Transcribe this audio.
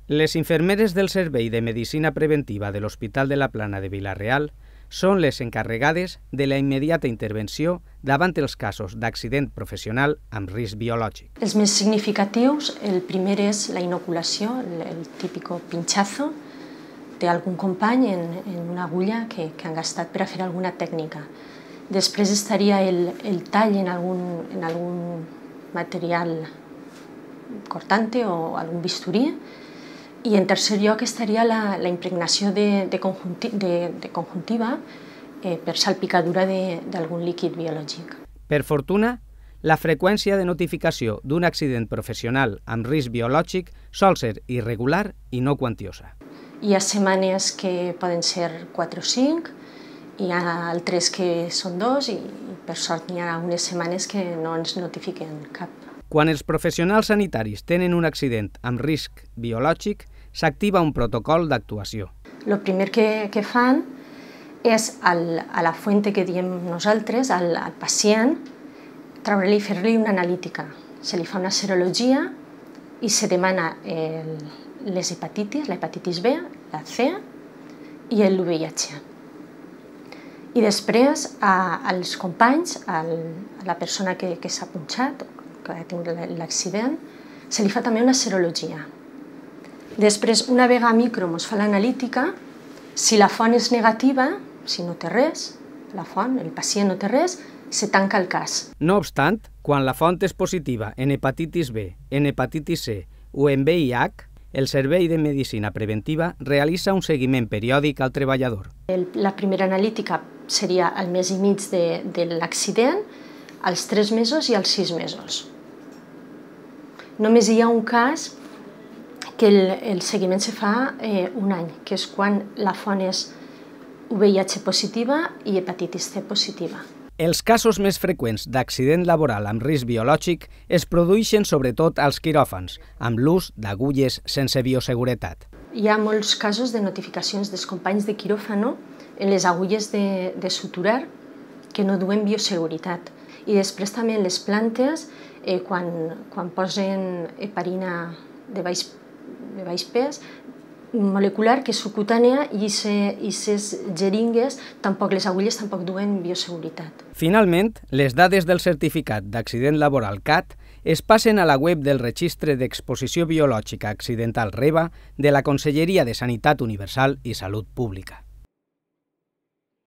Les infermeres del Servei de Medicina Preventiva de l'Hospital de la Plana de Vila-real són les encarregades de la immediata intervenció davant els casos d'accident professional amb risc biològic. Els més significatius, el primer és la inoculació, el típico pinchazo d'algun company en una agulla que han gastat per a fer alguna tècnica. Després estaria el tall en algun material cortante o algun bisturí. I en tercer lloc estaria la impregnació de conjuntiva per salpicadura d'algun líquid biològic. Per fortuna, la freqüència de notificació d'un accident professional amb risc biològic sol ser irregular i no quantiosa. Hi ha setmanes que poden ser 4 o 5, hi ha altres que són 2 i per sort hi ha unes setmanes que no ens notifiquen cap. Quan els professionals sanitaris tenen un accident amb risc biològic, s'activa un protocol d'actuació. El primer que fan és a la fuente que diem nosaltres, al pacient, treure-li i fer-li una analítica. Se li fa una serologia i se demana les hepatitis, la hepatitis B, la C i el VIH. I després als companys, a la persona que s'ha punxat, que ha tingut l'accident, se li fa també una serologia. Després, una vegada micro es fa l'analítica, si la font és negativa, si no té res, la font, el pacient no té res, se tanca el cas. No obstant, quan la font és positiva en hepatitis B, en hepatitis C o en VIH, el Servei de Medicina Preventiva realitza un seguiment periòdic al treballador. La primera analítica seria al mes i mig de l'accident, als 3 mesos i als 6 mesos. Només hi ha un cas que el seguiment se fa un any, que és quan la font és VIH positiva i hepatitis C positiva. Els casos més freqüents d'accident laboral amb risc biològic es produeixen sobretot als quiròfans, amb l'ús d'agulles sense bioseguretat. Hi ha molts casos de notificacions dels companys de quiròfano en les agulles de suturar que no duen bioseguretat. I després també en les plantes, quan posen heparina de baix pes, molecular, que és subcutània, i aquestes jeringues, les agulles tampoc duen bioseguretat. Finalment, les dades del certificat d'accident laboral CAT es passen a la web del Registre d'Exposició Biològica Accidental REBA de la Conselleria de Sanitat Universal i Salut Pública.